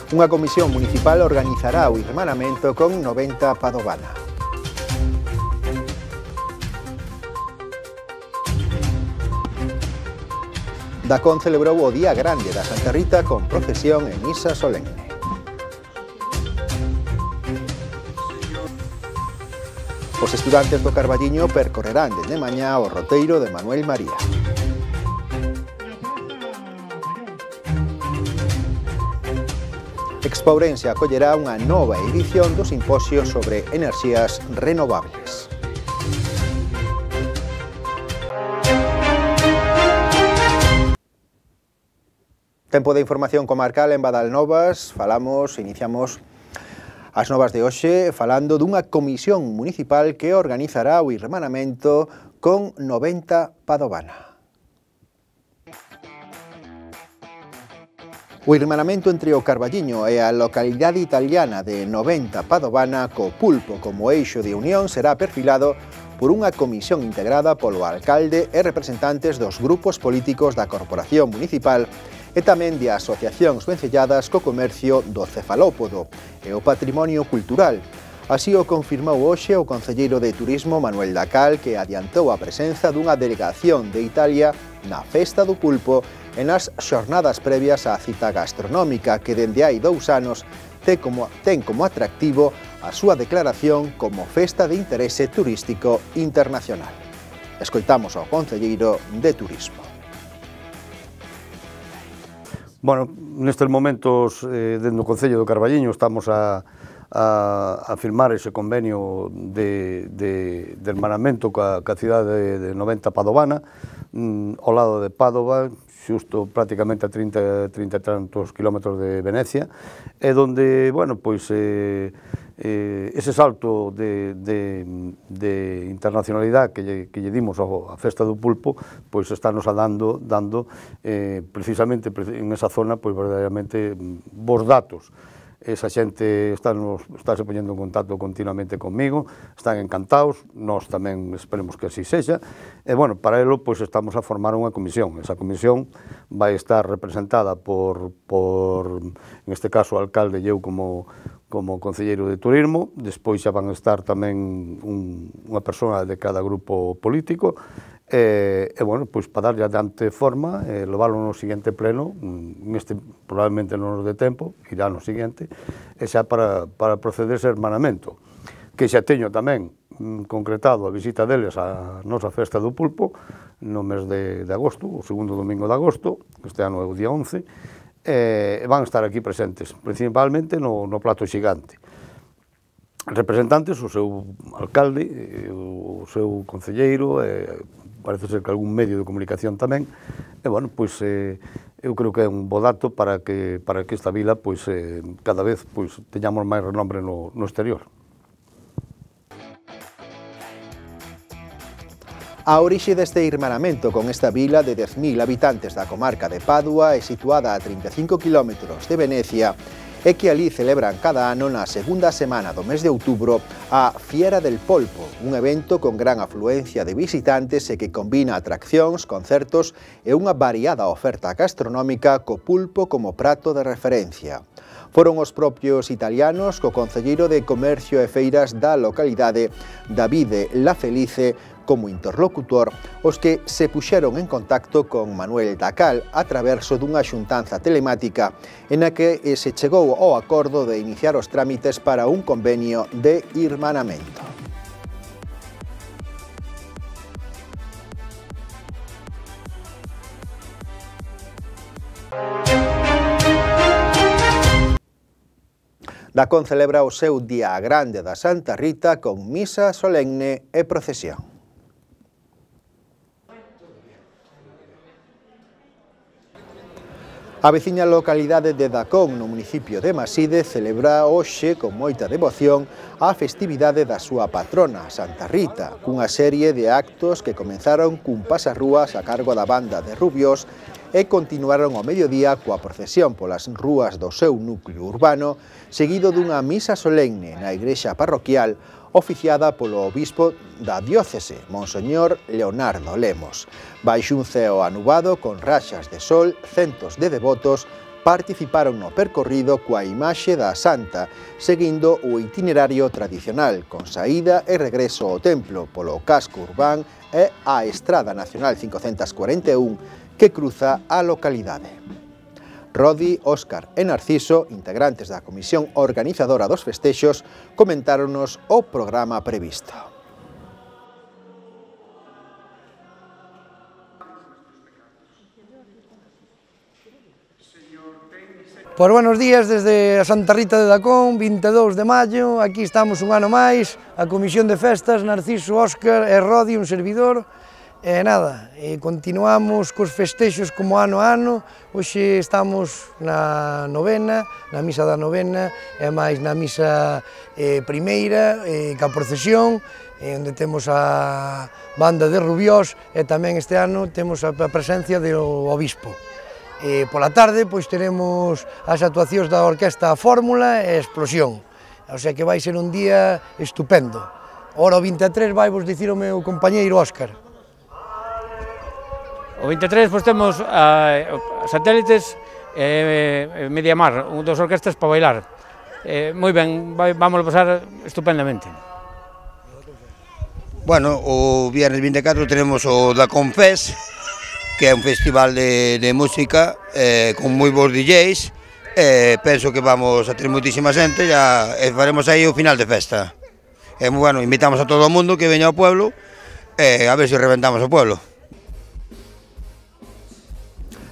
Unha comisión municipal organizará o irmanamento con 90 Padovana. Dacón celebrou o Día Grande da Santa Rita con procesión e misa solemne. Os estudantes do Carballiño percorrerán dende mañá o roteiro de Manuel María. Expo Ourense acollerá unha nova edición do simposio sobre enerxías renovables. Tempo de información comarcal en Badalnovas. Iniciamos as novas de hoxe falando dunha comisión municipal que organizará o irmanamento con 90 Padovana. O irmanamento entre o Carballiño e a localidade italiana de 90 Padovana co Pulpo como eixo de unión será perfilado por unha comisión integrada polo alcalde e representantes dos grupos políticos da Corporación Municipal e tamén de asociacións vencelladas co comercio do cefalópodo e o patrimonio cultural. Así o confirmou hoxe o concelleiro de Turismo Manuel Dacal, que adiantou a presenza dunha delegación de Italia na Festa do Pulpo e nas xornadas previas á cita gastronómica que dende hai 2 anos ten como atractivo a súa declaración como Festa de Interese Turístico Internacional. Escoitamos ao concelleiro de Turismo. Bueno, nestes momentos, dentro do Concello do Carballiño, estamos a firmar ese convenio de hermanamento coa cidade de 90 Padovana, ao lado de Padova, xusto prácticamente a 30 e tantos kilómetros de Venecia, e donde, bueno, pois, ese salto de internacionalidade que lle dimos á Festa do Pulpo, pois estános dando precisamente en esa zona, pois verdadeiramente bons datos. Esa xente estáse poñendo en contacto continuamente comigo, están encantados, nós tamén esperemos que así sexa, e, bueno, para elo, pois, estamos a formar unha comisión. Esa comisión vai estar representada por en este caso, o alcalde e eu como concelleiro de Turismo, despois xa van estar tamén unha persoa de cada grupo político, e, bueno, pois, para darlle adiante forma, leválo no seguinte pleno, neste probablemente non nos dé tempo, irá no seguinte, e xa para proceder ese hermanamento, que xa teño tamén concretado a visita deles á nosa Festa do Pulpo, no mes de agosto, o segundo domingo de agosto, este ano é o día 11, e van estar aquí presentes, principalmente no plato xigante. Representantes, o seu alcalde, o seu concelleiro, parece ser que algún medio de comunicación tamén, e, bueno, pois, eu creo que é un bo dato para que esta vila, pois, cada vez, pois, teñamos máis renombre no exterior. A orixe deste irmanamento con esta vila de 10.000 habitantes da comarca de Padua é situada a 35 km de Venecia e que ali celebran cada ano na segunda semana do mes de outubro a Fiera del Polpo, un evento con gran afluencia de visitantes e que combina atraccións, concertos e unha variada oferta gastronómica co pulpo como prato de referencia. Foron os propios italianos co concelleiro de Comercio e Feiras da localidade, Davide La Felice, como interlocutor, os que se puxeron en contacto con Manuel Dacal a traverso dunha xuntanza telemática en a que se chegou ao acordo de iniciar os trámites para un convenio de irmanamento. Dacón celebra o seu Día Grande da Santa Rita con misa solemne e procesión. A veciña localidade de Dacón, no municipio de Maside, celebra hoxe con moita devoción a festividade da súa patrona, Santa Rita, cunha serie de actos que comenzaron cun pasarrúas a cargo da banda de Rubiós e continuaron ao mediodía coa procesión polas rúas do seu núcleo urbano, seguido dunha misa solemne na igrexa parroquial oficiada polo obispo da diócese, Monseñor Leonardo Lemos. Baixo un ceo anubado con raxas de sol, centos de devotos participaron no percorrido coa imaxe da Santa, seguindo o itinerario tradicional, con saída e regreso ao templo polo casco urbán e a Estrada Nacional 541 que cruza a localidade. Rodi, Óscar e Narciso, integrantes da comisión organizadora dos festexos, comentáronos o programa previsto. Pois buenos días desde a Santa Rita de Dacón, 22 de maio, aquí estamos un ano máis, a Comisión de Festas, Narciso, Óscar e Rodi, un servidor, e nada, continuamos cos festexos como ano a ano, hoxe estamos na novena, na misa da novena, e máis na misa primeira, ca procesión, onde temos a banda de Rubiós, e tamén este ano temos a presencia do obispo. Pola tarde, pois teremos as actuacións da Orquesta Fórmula e Explosión, o sea que vai ser un día estupendo. Ora o 23 vai vos dicir o meu compañeiro Óscar. O 23 pois temos Satélites e Mediamar, dos orquestas para bailar. Moi ben, vamos a pasar estupendamente. Bueno, o viernes 24 tenemos o Dacón Fest, que é un festival de música con moi bons DJs. Penso que vamos a ter moitísima xente e faremos aí o final de festa. Bueno, invitamos a todo o mundo que veña ao pueblo a ver se reventamos o pueblo.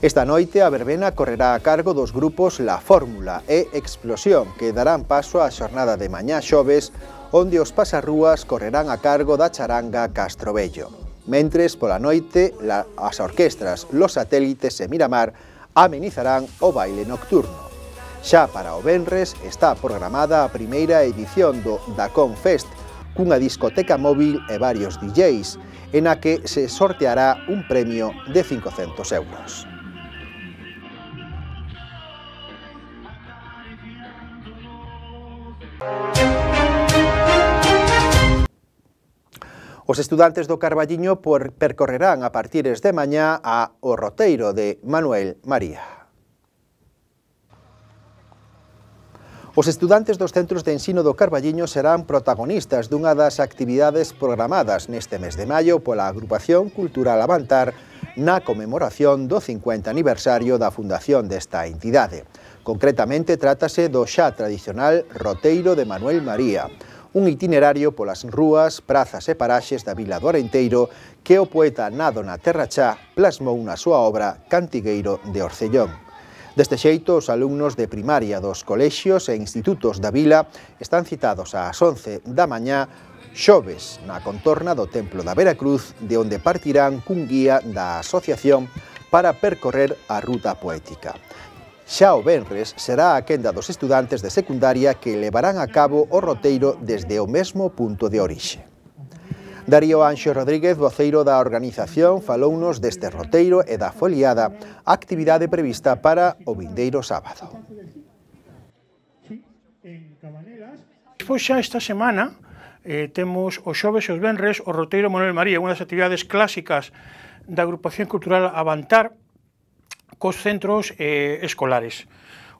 Esta noite a verbena correrá a cargo dos grupos La Fórmula e Explosión, que darán paso á xornada de mañá xoves, onde os pasarrúas correrán a cargo da charanga Castrobello. Mentres, pola noite, as orquestras Los Satélites e Miramar amenizarán o baile nocturno. Xa para o venres está programada a primeira edición do Dacón Fest, cunha discoteca móvil e varios DJs, en a que se sorteará un premio de 500 euros. Os estudantes do Carballiño percorrerán a partires de mañá o roteiro de Manuel María. Os estudantes dos centros de ensino do Carballiño serán protagonistas dunha das actividades programadas neste mes de maio pola Agrupación Cultural Avantar na conmemoración do 50 aniversario da fundación desta entidade. Concretamente, trátase do xa tradicional roteiro de Manuel María, un itinerario polas rúas, prazas e paraxes da vila do Arenteiro que o poeta Nado na Terra Chá plasmou na súa obra Cantigueiro de Orcellón. Deste xeito, os alumnos de primaria dos colexios e institutos da vila están citados ás 11 da mañá xoves na contorna do Templo da Veracruz, de onde partirán cun guía da asociación para percorrer a ruta poética. Xa o venres será a quenda dos estudantes de secundaria que levarán a cabo o roteiro desde o mesmo punto de orixe. Darío Anxo Rodríguez, voceiro da organización, falounos deste roteiro e da foliada, actividade prevista para o vindeiro sábado. Pois xa esta semana temos os xoves e os venres o roteiro Manuel María, unha das actividades clásicas da Agrupación Cultural Avantar, cos centros escolares.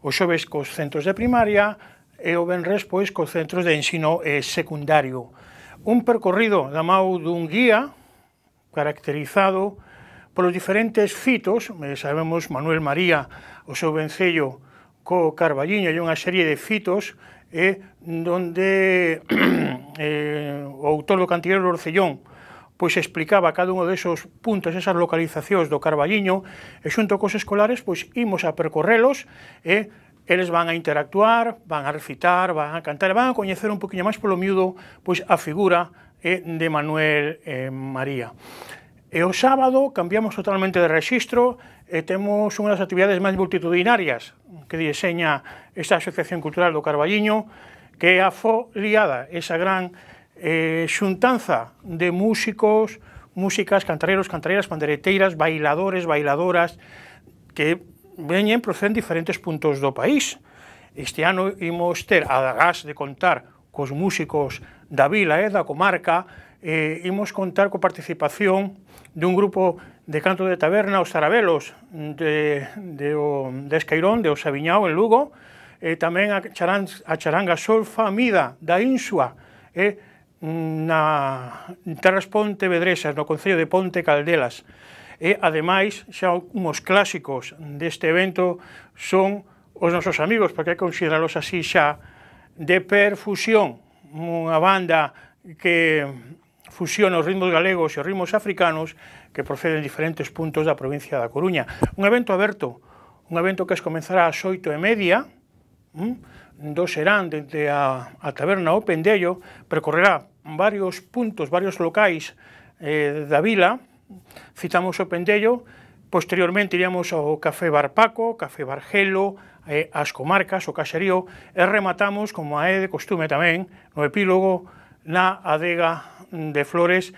Os xoves cos centros de primaria e o venres pois cos centros de ensino secundario. Un percorrido da mão dun guía caracterizado polos diferentes fitos, sabemos Manuel María, o seu vencello co Carballiño e unha serie de fitos donde o autor do Cantigueiro do Orcellón pois explicaba cada un desos puntos, esas localizacións do Carballiño, e xunto cos escolares, pois imos a percorrelos, e eles van a interactuar, van a recitar, van a cantar, e van a coñecer un poquinho máis polo miúdo, pois a figura de Manuel María. E o sábado cambiamos totalmente de rexistro, e temos unha das actividades máis multitudinarias que diseña esta Asociación Cultural do Carballiño, que é a foliada, esa gran xuntanza de músicos, músicas, cantareiros, cantareiras, pandereteiras, bailadores, bailadoras, que veñen proceden diferentes puntos do país. Este ano imos ter, además de contar cos músicos da vila e da comarca, imos contar coa participación dun grupo de canto de taberna os Zarabelos de Escairón, de Osaviñao en Lugo, e tamén a charanga Solfa Mida da Insua, na terras pontevedresas, no concello de Ponte Caldelas. E, ademais, xa uns clásicos deste evento son os nosos amigos, porque hai que consideralos así xa, de Perfusión, unha banda que fusiona os ritmos galegos e os ritmos africanos que proceden de diferentes puntos da provincia da Coruña. Un evento aberto, un evento que comenzará ás 8:30, do Serán, dende a taberna O Pendello, percorrerá varios puntos, varios locais da vila. Citamos O Pendello, posteriormente iríamos ao Café Bar Paco, Café Bar Gelo, as comarcas, o Caxerío, e rematamos, como é de costume tamén, no epílogo, na adega de Flores.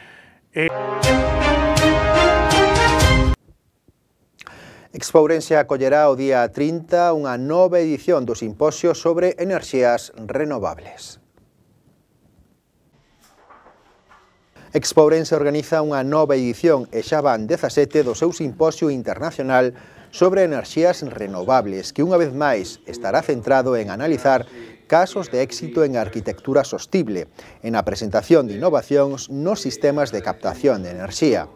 Expourense acollerá o día 30 unha nova edición do Simposio sobre Enerxías Renovables. Expourense organiza unha nova edición e xa van 17 do seu Simposio Internacional sobre Enerxías Renovables, que unha vez máis estará centrado en analizar casos de éxito en arquitectura sostible, en a presentación de innovacións nos sistemas de captación de enerxía.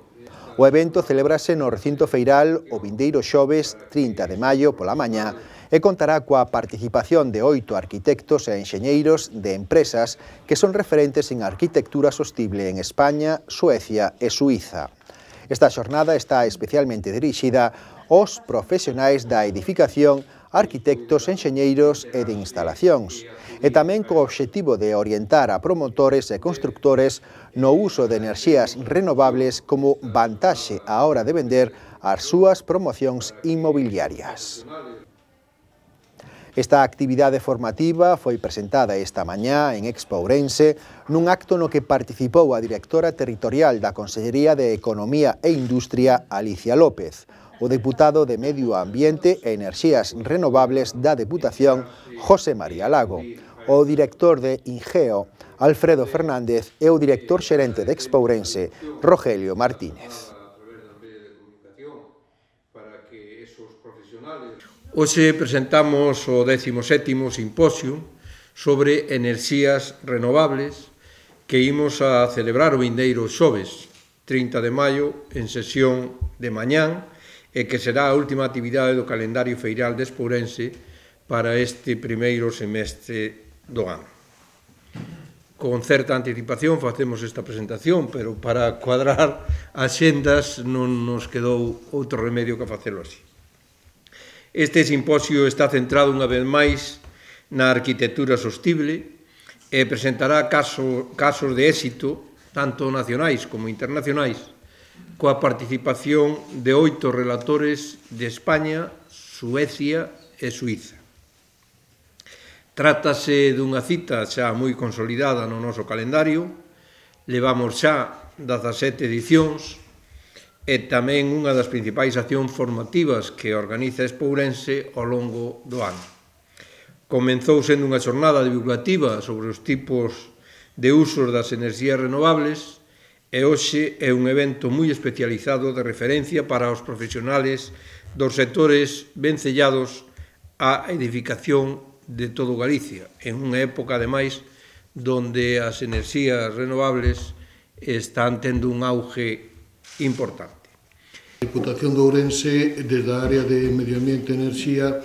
O evento celébrase no recinto feiral o vindeiro xoves 30 de maio pola mañá e contará coa participación de 8 arquitectos e enxeñeiros de empresas que son referentes en arquitectura sostible en España, Suecia e Suiza. Esta xornada está especialmente dirixida aos profesionais da edificación, arquitectos, enxeñeiros e de instalacións, e tamén co obxectivo de orientar a promotores e constructores no uso de enerxías renovables como vantaxe á hora de vender as súas promocións inmobiliarias. Esta actividade formativa foi presentada esta mañá en Expourense nun acto no que participou a directora territorial da Consellería de Economía e Industria, Alicia López, o deputado de Medio Ambiente e Enerxías Renovables da Deputación, José María Lago, o director de Ingeo, Alfredo Fernández, e o director xerente de Expourense, Rogelio Martínez. Hoxe presentamos o 17º Simposio sobre Enerxías Renovables que imos a celebrar o vindeiro xoves, 30 de maio, en sesión de mañán, e que será a última actividade do calendario feiral de Expourense para este primeiro semestre do ano. Con certa anticipación facemos esta presentación, pero para cuadrar axendas non nos quedou outro remedio que facelo así. Este simposio está centrado unha vez máis na arquitectura sostible e presentará casos de éxito, tanto nacionais como internacionais, coa participación de 8 relatores de España, Suecia e Suiza. Trátase dunha cita xa moi consolidada no noso calendario, levamos xa 17 edicións e tamén unha das principais accións formativas que organiza Expourense ao longo do ano. Comenzou sendo unha xornada divulgativa sobre os tipos de usos das enerxías renovables e hoxe é un evento moi especializado de referencia para os profesionales dos sectores vencellados á edificación de todo Galicia, en unha época, ademais, donde as enerxías renovables están tendo un auge importante. A Diputación de Ourense, desde a área de Medio Ambiente e Enerxía,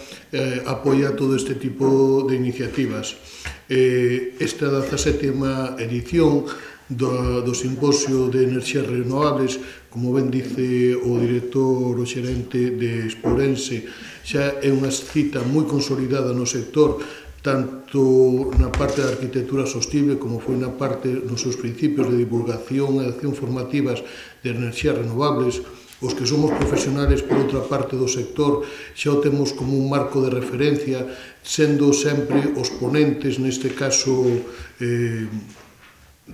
apoia todo este tipo de iniciativas. Esta 17ª edición do Simposio de Enerxías Renovables, como ben dice o director o xerente de Expourense, xa é unha cita moi consolidada no sector, tanto na parte da arquitectura sostible como foi na parte nos seus principios de divulgación e de acción formativas de enerxías renovables. Os que somos profesionales, por outra parte do sector, xa o temos como un marco de referencia, sendo sempre os ponentes, neste caso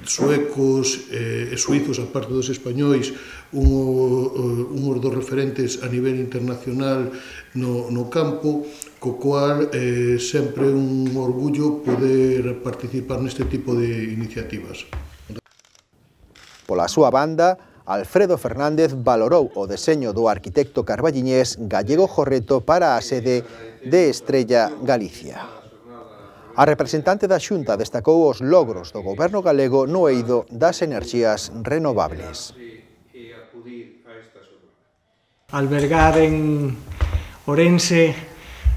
suecos e suizos, a parte dos españois, unhos dos referentes a nivel internacional no campo, co cual sempre é un orgullo poder participar neste tipo de iniciativas. Pola súa banda, Alfredo Fernández valorou o deseño do arquitecto carballiñés Gallego Jorreto para a sede de Estrella Galicia. A representante da Xunta destacou os logros do goberno galego no eido das enerxías renovables. Albergar en Ourense,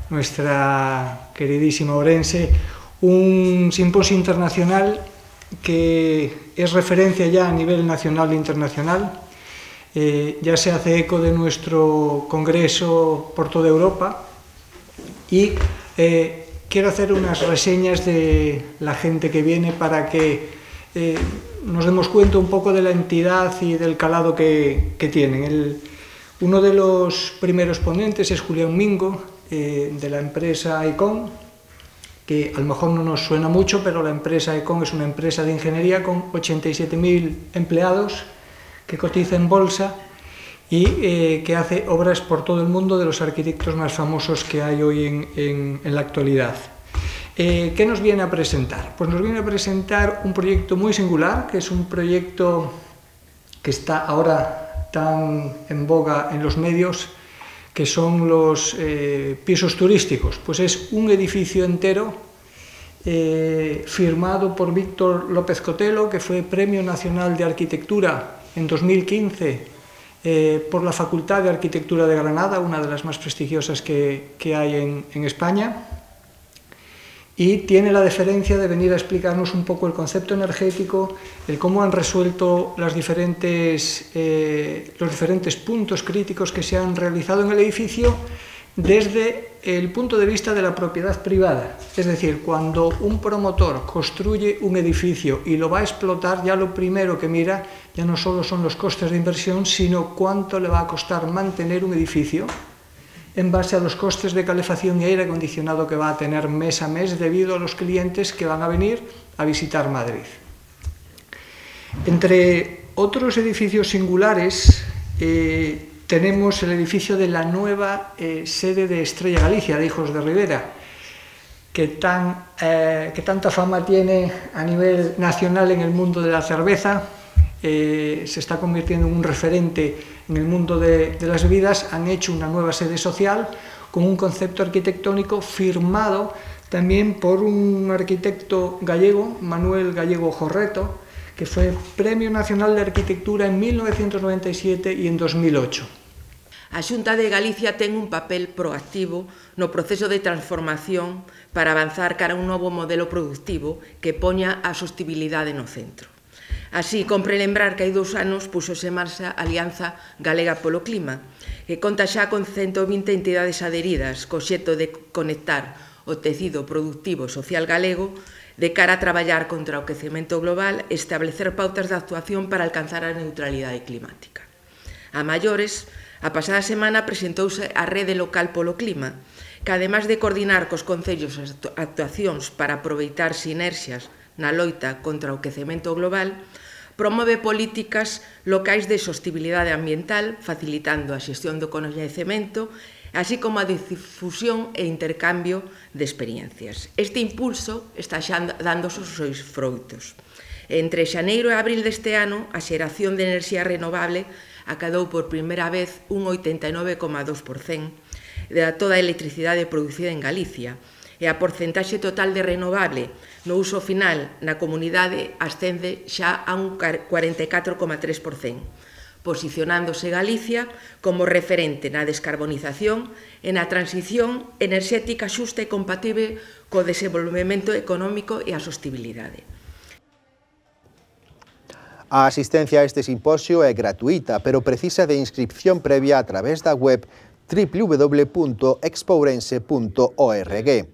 nuestra queridísima Ourense, un simposio internacional que es referencia ya a nivel nacional e internacional. Ya se hace eco de nuestro congreso por toda Europa y quiero hacer unas reseñas de la gente que viene para que nos demos cuenta un poco de la entidad y del calado que tienen. Uno de los primeros ponentes es Julián Mingo, de la empresa Econ, que a lo mejor no nos suena mucho, pero la empresa Econ es una empresa de ingeniería con 87.000 empleados que cotiza en bolsa y que hace obras por todo el mundo, de los arquitectos más famosos que hay hoy en la actualidad. ¿Qué nos viene a presentar? Pues nos viene a presentar un proyecto muy singular, que es un proyecto que está ahora tan en boga en los medios, que son los pisos turísticos. Pues es un edificio entero firmado por Víctor López Cotelo, que fue Premio Nacional de Arquitectura en 2015 por la Facultad de Arquitectura de Granada, una de las más prestigiosas que hay en España, y tiene la deferencia de venir a explicarnos un poco el concepto energético, el cómo han resuelto los diferentes puntos críticos que se han realizado en el edificio desde el punto de vista de la propiedad privada. Es decir, cuando un promotor construye un edificio y lo va a explotar, ya lo primero que mira ya no solo son los costes de inversión, sino cuánto le va a costar mantener un edificio en base a los costes de calefacción y aire acondicionado que va a tener mes a mes debido a los clientes que van a venir a visitar Madrid. Entre otros edificios singulares tenemos el edificio de la nueva sede de Estrella Galicia, de Hijos de Rivera, que tanta fama tiene a nivel nacional en el mundo de la cerveza. Se está convirtiendo en un referente en el mundo de las bebidas. Han hecho una nueva sede social con un concepto arquitectónico firmado también por un arquitecto gallego, Manuel Gallego Jorreto, que fue Premio Nacional de Arquitectura en 1997 y en 2008. A Xunta de Galicia ten un papel proactivo no proceso de transformación para avanzar cara a un novo modelo productivo que poña a sostibilidade no centro. Así, compre lembrar que hai 2 anos puxose en marcha a Alianza Galega polo Clima, que conta xa con 120 entidades adheridas, co xeito de conectar o tecido productivo e social galego de cara a traballar contra o quecemento global e establecer pautas de actuación para alcanzar a neutralidade climática. A maiores, a pasada semana presentouse a Rede Local polo Clima, que ademais de coordinar cos concellos as actuacións para aproveitar sinerxias na loita contra o quecemento global, promove políticas locais de sostibilidade ambiental, facilitando a xestión do coñecemento, así como a difusión e intercambio de experiencias. Este impulso está xa dando os seus froitos. Entre xaneiro e abril deste ano, a xeración de enerxía renovable acadou por primeira vez un 89,2% de toda a electricidade producida en Galicia, e a porcentaxe total de renovable no uso final na comunidade ascende xa a un 44,3%, posicionándose Galicia como referente na descarbonización e na transición enerxética xusta e compatible co desenvolvemento económico e a sostibilidade. A asistencia a este simposio é gratuita, pero precisa de inscripción previa a través da web www.expourense.org.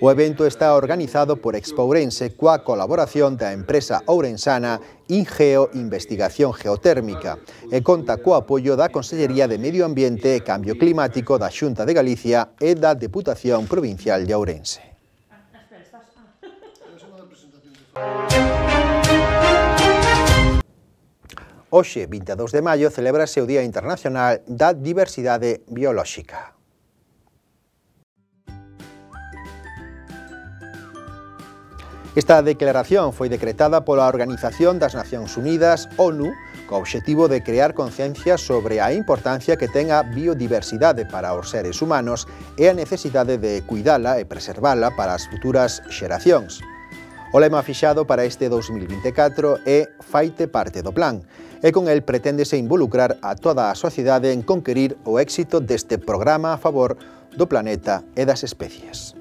O evento está organizado por Expourense coa colaboración da empresa ourensana Ingeo Investigación Geotérmica e conta co apoio da Consellería de Medio Ambiente e Cambio Climático da Xunta de Galicia e da Deputación Provincial de Ourense. Hoxe, 22 de maio, celébrase o Día Internacional da Diversidade Biolóxica. Esta declaración foi decretada pola Organización das Nacións Unidas, ONU, co obxectivo de crear conciencia sobre a importancia que ten a biodiversidade para os seres humanos e a necesidade de cuidala e preservala para as futuras xeracións. O lema fixado para este 2024 é Faite parte do plan, e con el preténdese involucrar a toda a sociedade en conquerir o éxito deste programa a favor do planeta e das especies.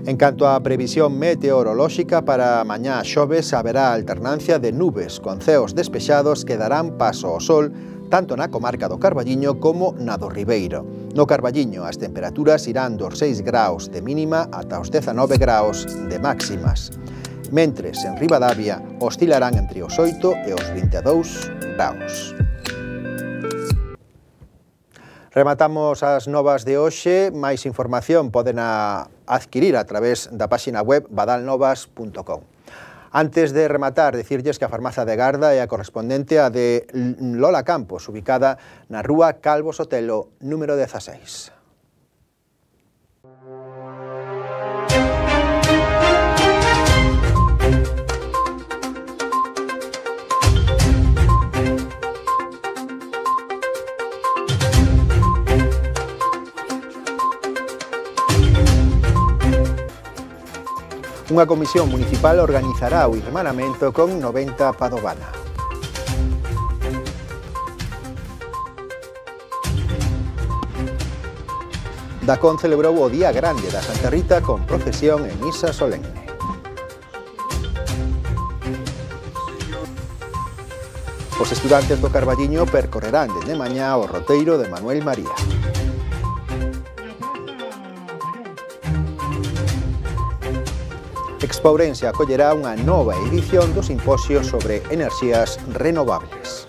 En canto á previsión meteorolóxica, para mañá xoves haberá alternancia de nubes con ceos despexados que darán paso ao sol tanto na comarca do Carballiño como na do Ribeiro. No Carballiño as temperaturas irán dos 6 graus de mínima ata os 19 graus de máximas, mentres en Ribadavia oscilarán entre os 8 e os 22 graus. Rematamos as novas de hoxe. Máis información poden adquirir a través da páxina web badalnovas.com. Antes de rematar, dicirlles que a farmacia de Garda é a correspondente a de Lola Campos, ubicada na rúa Calvo Sotelo, número 16. Unha comisión municipal organizará o irmanamento con 90 Padovana. Dacón celebrou o Día Grande da Santa Rita con procesión e misa solemne. Os estudantes do Carballiño percorrerán dende mañá o roteiro de Manuel María. Expo Ourense acollerá unha nova edición do simposio sobre enerxías renovables.